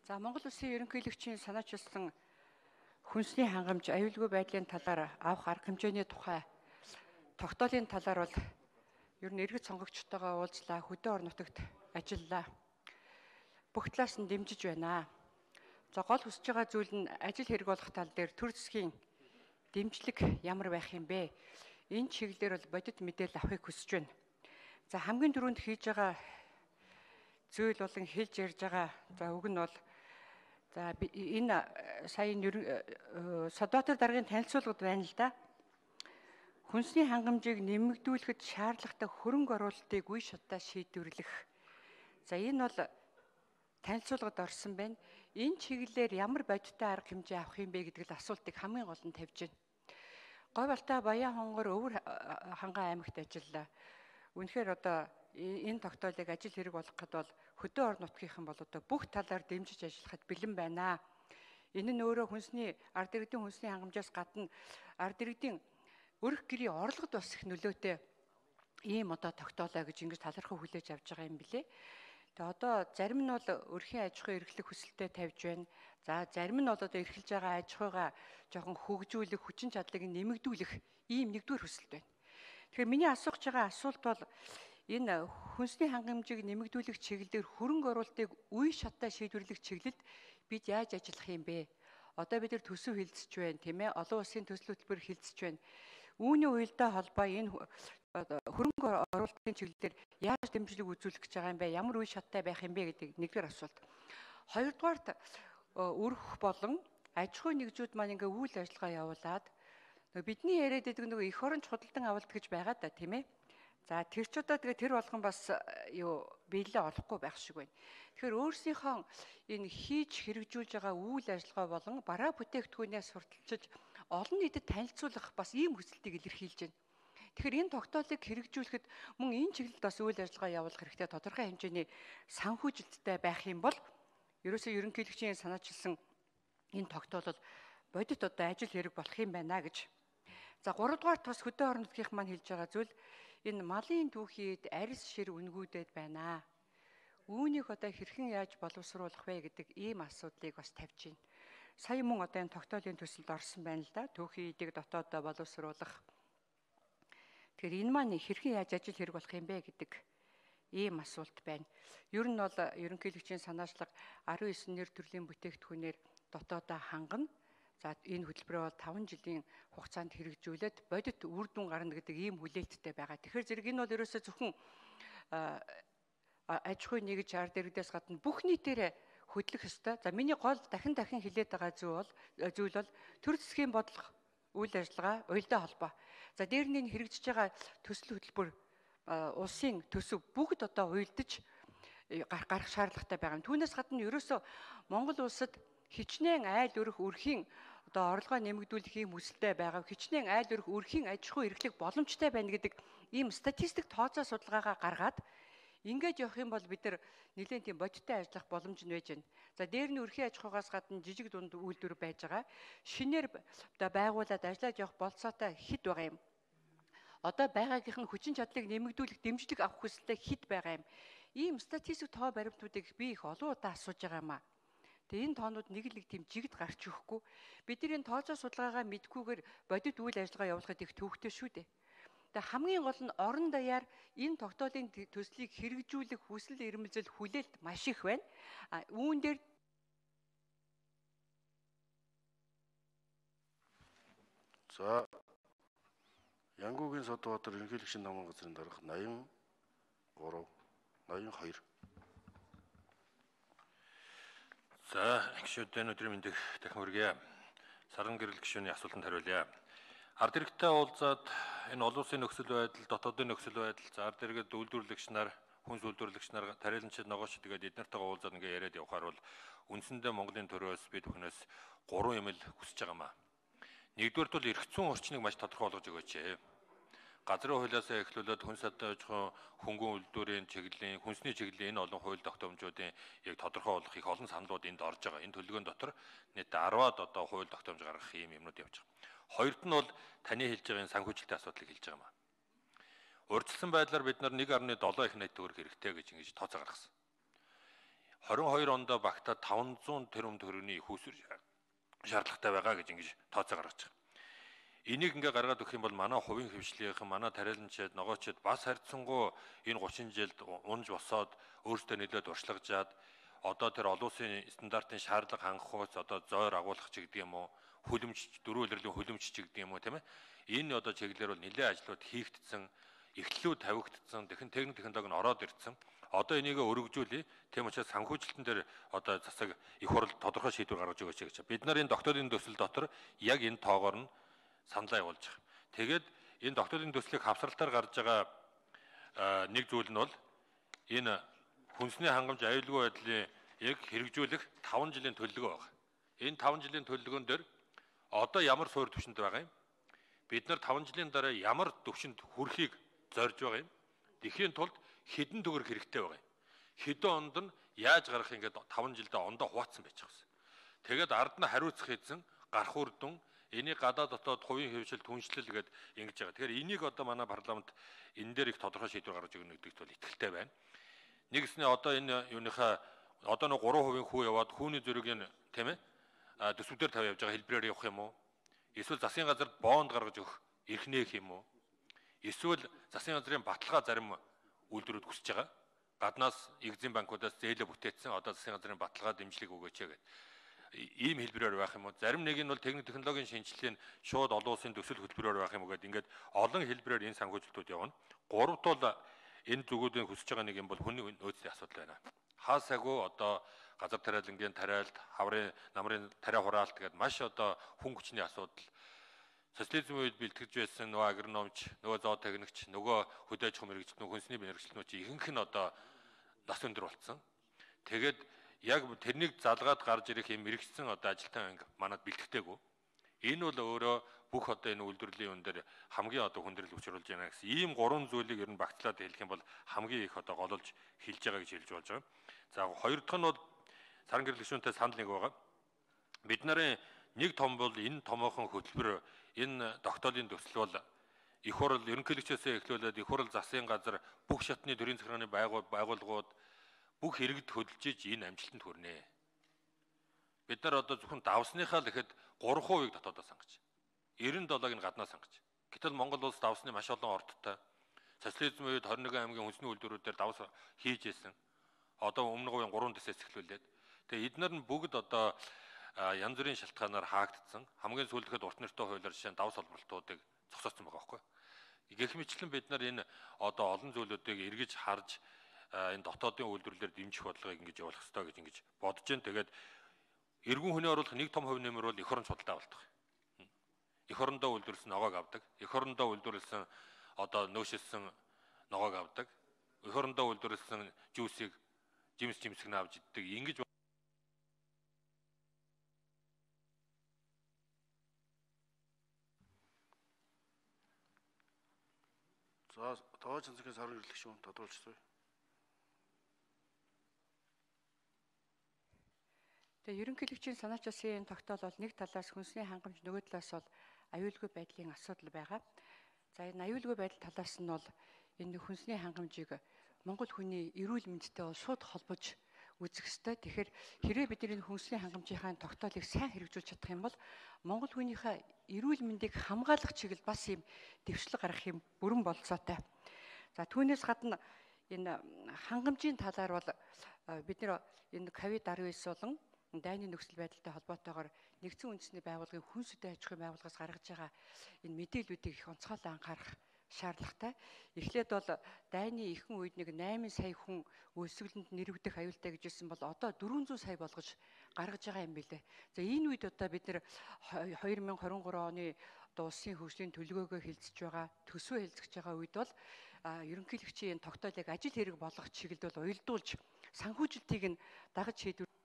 За Монгол Улсын ерөнхийлөгчийн санаачилсан хүнсний хангамж аюулгүй байдлын талаар авах арга хэмжээний тухай тогтоолын талаар бол ер нь иргэд сонгогчтойгоо уулзлаа, хөдөө орон нутагт ажиллалаа. Бүх талаас нь дэмжиж байна. За гол хүсэж байгаа зүйл нь ажил хэрэг болох тал дээр төр засгийн дэмжлэг ямар байх юм бэ? Энэ чиглэлээр бол бодит мэдээлэл авахыг хүсэж байна. За хамгийн түрүүнд хийж байгаа зүйл болон хэлж ярьж байгаа за үг нь бол за энэ сая Содбаатар даргын танилцуулгад байна л да. Хүнсний хангамжийг нэмэгдүүлэхэд шаардлагатай хөрөнгө оруулалтыг үе шатаа шийдвэрлэх. За энэ бол танилцуулгад орсон байна. Энэ чиглэлээр ямар бодиттой арга хэмжээ авах юм бэ гэдэг л асуултыг хамгийн гол нь тавьж байна. Говьалтай Баян хонгор Өвөр ханган аймагт ажиллалаа. Үнэхээр одоо энэ тогтоолыг ажил хэрэг болгоход бол хөдөө орон нутгийнхан бол одоо бүх талаар дэмжиж ажиллахад бэлэн байна. Энэ нь өөрөө ард иргэдийн хүнсний хангамжаас гадна ард иргэдийн өрх гэрийн орлогод бас их нөлөөтэй ийм одоо тогтоолоо гэж ингэж талархав хүлээж авч байгаа юм билээ. Тэгээ одоо зарим нь бол өрхийн аж ахуй эрхлэх хүсэлтэд тавьж байна. За зарим нь бол одоо эрхэлж байгаа аж ахуйгаа жоохон хөгжүүлэх, хүчин чадлыг нэмэгдүүлэх ийм нэгдүгээр хүсэлт байна. Тэгэхээр миний асууж байгаа асуулт бол энэ хүнсний хангамжийг нэмэгдүүлэх чиглэлээр хөрөнгө оруулалтыг үе шатаа шийдвэрлэх чиглэлд бид яаж ажиллах юм бэ? Одоо бид нар төсөв хилцэж байна, тийм ээ? Олон улсын төсөл хөтөлбөр хилцэж байна. Үүний уялдаа холбоо энэ хөрөнгө оруулалтын чиглэлээр яаж дэмжлэг үзүүлэх гэж байгаа юм бэ? Ямар үе шаттай байх юм бэ гэдэг нэгдүгээр асуулт. Хоёрдугаарт өрх болон аж ахуй нэгжүүд маань ингээ үйл ажиллагаа явуулаад бидний яриад байдаг нөгөө эх оронч худалдан авалт гэж байгаа да, тийм ээ? За тэр ч удаа тэгээ тэр болгон бас биелээ олохгүй байх шиг байна. Тэгэхээр өөрсдийнхөө энэ хийж хэрэгжүүлж байгаа үйл ажиллагаа болон бараа бүтээгдэхүүнээс сурталчилж олон нийтэд танилцуулах бас ийм хүсэлтийг илэрхийлж байна. Тэгэхээр энэ тогтоолыг хэрэгжүүлэхэд мөн энэ чиглэлд бас үйл ажиллагаа явуулах хэрэгтэй тодорхой хэмжээний санхүүжилттэй байх юм бол ерөөсөө ерөнхийлөгчийн санаачилсан энэ тогтоол бол бодит одоо ажил хэрэг болох юм байна гэж. За 3 дугаарт бас хөдөө орон нутгийнх маань хэлж байгаа зүйл энэ малын түүхийд арьс шир үнгүүдэд байна. Үүнийг одоо хэрхэн яаж боловсруулах вэ гэдэг ийм асуудлыг бас тавьж байна. Сая мөн одоо энэ тогтоолын төсөлд орсон байна л да. Түүхийн эдийг дотоодоо боловсруулах. Тэгэхээр энэ маань хэрхэн яаж ажил хэрэг болох юм бэ гэдэг ийм асуулт байна. Ер нь бол ерөнхийлөгчийн санаачлага 19 нэр төрлийн бүтээгдэхүүнээр дотоодоо хангана. За энэ хөтөлбөрөө 5 жилийн хугацаанд хэрэгжүүлээд бодит үр дүн гарна гэдэг ийм хүлээлттэй байгаа. Тэгэхээр зэрэг энэ бол ерөөсөө зөвхөн аж ахуй нэгж ард иргэдээс гадна бүх нийтээрээ хөдлөх ёстой. За миний гол дахин хэлээд байгаа зүйл бол төр засгийн бодлого үйл ажиллагаа уялдаа холбоо. За дээр нь хэрэгжиж байгаа төсөл хөтөлбөр улсын төсөв бүгд одоо уялдаж гарах шаардлагатай байгаа. Түүнээс гадна ерөөсөө Монгол улсад хичнээн айл өрх өрхийн одоо орлогоо нэмэгдүүлэх юм хүсэлтэй байгаа. Хичнээн айл өрх өрхийн аж ахуй эрхлэх боломжтой байна гэдэг ийм статистик тооцоо судалгаагаа гаргаад ингээд явах юм бол бид нар нэлээд тийм бодиттой ажиллах боломж нь байж байна. За дээр нь өрхийн аж ахуйгаас гадна жижиг дунд үйлдвэр байж байгаа. Шинээр одоо байгуулад ажиллаж явах болцоотой хэд байгаа юм. Одоо байгаагийнх нь хүчин чадлыг нэмэгдүүлэх дэмжлэг авах хүсэлтэй хэд байгаа юм. Ийм статистик тоо баримтуудыг би их олон удаа асууж байгаа юм аа. Тэгээ энэ тоонууд нэг тийм жигд гарч өгөхгүй. Бид нар энэ тооцоо судалгаагаа мэдгүйгээр бодит үйл ажиллагаа явуулахад их төвөгтэй шүү дээ. Тэгээ хамгийн гол нь орон даяар энэ тогтоолын төслийг хэрэгжүүлэх хүсэл эрмэлзэл хүлээлт маш их байна. Үүн дээр за Янгуугийн Содбаатар ерөнхийлөгчийн намын газрын дарга 82. За гишүүдэн өдрийн мэндийг дахин хүргье. Саран гэрэл гишүүний асуултанд хариулъя. Ард иргэдтэй уулзаад энэ олон улсын нөхцөл байдал, дотоодын нөхцөл байдал, за ард иргэд үйлдвэрлэгч нар, хүнс үйлдвэрлэгч нар, тариаланчид, ногоочд тэгээд эднэртэйгээ уулзаад ингээ яриад явахаар бол үндсэндээ Монголын төрөөс бид бүхнээс 3 юм л хүсэж байгаа юм аа. Нэгдүгээрт бол эрх зүйн орчныг маш тодорхой болгож өгөөч. Газрын хуулиас эхлүүлээд хүнс аж ахуй хөнгөн үйлдвэрийн чиглэлийн, хүнсний чиглэлийн энэ олон хууль тогтоомжуудын яг тодорхой болох их олон саналууд энд орж байгаа. Энэ төлөвлөгөөний дотор нийт 10-аад одоо хууль тогтоомж гаргах юм юмнууд явж байгаа. Хоёрт нь бол таны хэлж байгаа санхүүжилтийн асуудлыг хэлж байгаа юм аа. Урьдчилсан байдлаар бид нар 1.7 их найт төгрөг хэрэгтэй гэж ингэж тооцоо гаргасан. 22 онд багтаад 500 тэрбум төгрөгийн их усүр шаардлагатай байгаа гэж ингэж тооцоо гаргаж байгаа. Энийг ингээ гаргаад өгөх юм бол манай хувийн хөвшлийнхэн, манай тариаланчид, ногоочид бас харьцангуй энэ 30 жилд унж босоод өөрсдөө нэлээд уршлагжаад одоо тэр олон улсын стандартын шаардлага хангахуйц одоо зойр агуулах ч гэдэг юм уу, хүлэмж дөрвөн улирлын хүлэмж ч гэдэг юм уу тийм ээ. Энэ одоо чиглэлээр бол нэлээд ажлууд хийгдсэн, эхлэлүүд тавигдсан, техник технологи нь ороод ирсэн. Одоо энийг өргөжүүлээ. Тийм учраас санхүүжилтэн дээр одоо засаг их хурл тодорхой шийдвэр гаргаж өгөөч гэж. Бид нарын докторийн төсөл дотор яг энэ тоогоор нь саналаа явуулж байгаа. Тэгээд энэ докторийн төслийг хавсралтаар гарч байгаа нэг зүйл нь бол энэ хүнсний хангамж аюулгүй байдлын яг хэрэгжүүлэх 5 жилийн төлөвлөгөө байна. Энэ 5 жилийн төлөвлөгөөн дээр одоо ямар суурь түвшинд байгаа юм? Бид нар 5 жилийн дараа ямар түвшинд хүрэхийг зорж байгаа юм? Тэхийн тулд хэдэн төгрөг хэрэгтэй байгаа юм? Хэдэн онд нь яаж гарах ингээд 5 жилдээ ондоо хуваацсан байж байгаа юм. Тэгээд ард нь хариуцах хэзэн гарах үр дүн энийг гадаад дотоод хувийн хөвшил түншлэл гээд ингэж байгаа. Тэгэхээр энийг одоо манай парламент энэ дээр их тодорхой шийдвэр гаргаж өгнө гэдэгт бол итгэлтэй байна. Нэгснээ одоо энэ юуныхаа одоо нэг 3% хүү яваад хүүний зөрөгийн тийм ээ төсвүүдээр тавь явж байгаа хэлбэрээр явах юм уу? Эсвэл засгийн газарт бонд гаргаж өгөх эрх нээх юм уу? Эсвэл засгийн газрын баталгаа зарим үйлдвэрүүд хүсэж байгаа. Гаднаас Экзим банкудаас зээлээ бүтээсэн одоо засгийн газрын баталгаа дэмжлэг өгөөч гэдэг. Ийм хэлбэрээр байх юм уу? Зарим нэг нь бол техник технологийн шинжилгээний шууд олон улсын төсөл хөтөлбөрөөр байх юм уу гэдэг ингээд олон хэлбэрээр энэ санхүүжилтүүд явна. Гуравт бол энэ зүгүүдийн хүсэж байгаа нэг юм бол хүний нөөцийн асуудал байна. Хаасаагүй одоо газар тариалангийн тариалт, хаврын намрын тариа хураалт гэдэг маш одоо хүн хүчний асуудал. Социализм үед бэлтгэж байсан нөгөө агрономч, нөгөө зоотехникч, нөгөө хөдөө аж ахуйн мэргэжилтнүүд, хүнсний мэргэжилтнүүд чи ихэнх нь одоо нас өндөр болсон. Тэгээд яг тэрнийг залгаад гарч ирэх юм мэрэгчсэн одоо ажилтан анги манад бэлтгэдэггүй. Энэ бол өөрөө бүх одоо энэ үйлдвэрлэлийн үн дээр хамгийн одоо хүндрэл учруулж байна гэсэн ийм гурван зүйлийг ер нь багтлаад хэлэх юм бол хамгийн их одоо гололж хэлж байгаа гэж хэлж болж байгаа. За хоёр дахь нь бол саран гэрэл гишүүнтэй санал нэг байгаа. Бид нарын нэг том бол энэ томоохон хөтөлбөр энэ тогтоолын төсөл бол их хурл ерөнхийлөгчөөсөө эхлүүлээд их хурл засгийн газар бүх шатны төрийн захиргааны байгууллагууд бүх хэрэгд хөдөлж иж энэ амжилтанд хүрнэ. Бид нар одоо зөвхөн давсныхаа л ихэд 3% дотоодоо сангаж. 97-ыг нь гаднаа сангаж. Гэтэл Монгол улс давсны маш олон ордтой. Социализм үед 21 аймгийн хүнсний үйлдвэрүүдээр давс хийж ирсэн. Одоо өмнө говийн 3 дэсээс эхлүүлээд. Тэгээ эднэр нь бүгд одоо янз бүрийн шалтгаанаар хаагдсан. Хамгийн сүүлдэхэд урт нэртэй хуулиар жишээ нь давс олборлтуудыг зогсооцсон байгаа байхгүй. Гэх мэтлэн бид нар энэ одоо олон зүйлүүдийг эргэж харж энэ дотоодын үйлдвэрлэлээр дэмжих бодлогыг ингэж явуулах хэрэгтэй гэж ингэж бодож байна. Тэгээд эргэн хүний оруулах нэг том хувь нэмэр бол эх орон судалтай болдог. Эх орондоо үйлдвэрлэсэн ногоог авдаг. Эх орондоо үйлдвэрлэсэн одоо нөөшилсөн ногоог авдаг. Эх орондоо үйлдвэрлэсэн жүүсийг жимсэг нь авч иддэг. Ингэж За тоож цэцгийн саран гэрлэх шүү тодруулчихсан. Тэгээ ерөнхийлөгчийн санаач улсын тогтоол бол нэг талаас хүнсний хангамж, нөгөө талаас бол аюулгүй байдлын асуудал байгаа. За энэ аюулгүй байдал талаас нь бол энэ хүнсний хангамжийг Монгол хүний эрүүл мэндтэй бол шууд холбож үзэх ёстой. Тэгэхээр хэрвээ бид энэ хүнсний хангамжийнхаа тогтоолыг сайн хэрэгжүүлж чадах юм бол Монгол хүнийхээ эрүүл мэндийг хамгаалах чиглэл бас юм дэвшлэг гаргах юм бүрэн болцоотой. За түүнээс гадна энэ хангамжийн талаар бол бид нэр энэ COVID-19 болон дайны нөхцөл байдалтай холбоотойгоор нэгдсэн үндэсний байгууллагын хүнс үдэ аж ахуйн байгууллагаас гаргаж байгаа энэ мэдээллүүдийг их онцгойлон анхаарах шаардлагатай. Эхлээд бол дайны ихэнх үед нэг 8 сая хүн өсвөлөнд нэрвдэх аюултай гэж хэлсэн бол одоо 400 сая болгож гаргаж байгаа юм билээ. За энэ үед одоо бид нэр 2023 оны одоо улсын хөгжлийн төлөвлөгөөгөө хэлцэж байгаа, төсвөө хэлцэж байгаа үед бол ерөнхийлөгчийн тогтоолыг ажил хэрэг болгох чиглэлд бол уялдуулж санхүүжилтийг нь дагаж шийдвэр